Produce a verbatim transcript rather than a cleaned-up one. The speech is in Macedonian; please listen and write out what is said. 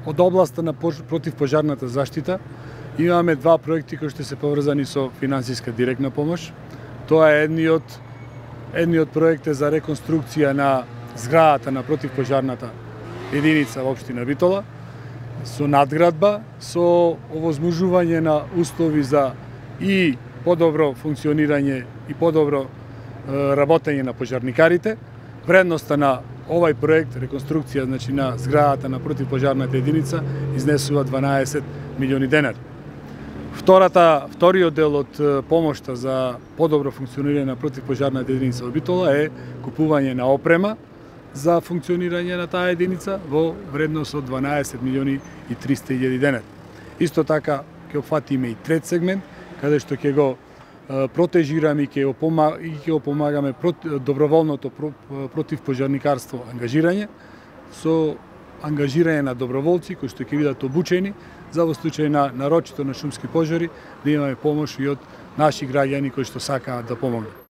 од областа на противпожарната заштита имаме два проекти кои што се поврзани со финансиска директна помош. Тоа е едниот едниот проект е за реконструкција на зградата на противпожарната единица во општина Битола со надградба, со овозможување на услови за и подобро функционирање и подобро работење на пожарникарите. Вредноста на овај проект, реконструкција значи, на зградата на противпожарната единица, изнесува дванаесет милиони денари. Втората, вториот дел од помошта за подобро функционирање на противпожарната единица во Битола е купување на опрема за функционирање на таа единица во вредност од дванаесет милиони и триста илјади денари. Исто така ќе опфатиме и трет сегмент, каде што ќе го протежираме и ќе го помагаме доброволното противпожарникарство ангажирање со ангажирање на доброволци кои што ќе бидат обучени за во случај на нарочито на шумски пожари да имаме помош и од наши граѓани кои што сакаат да помогнат.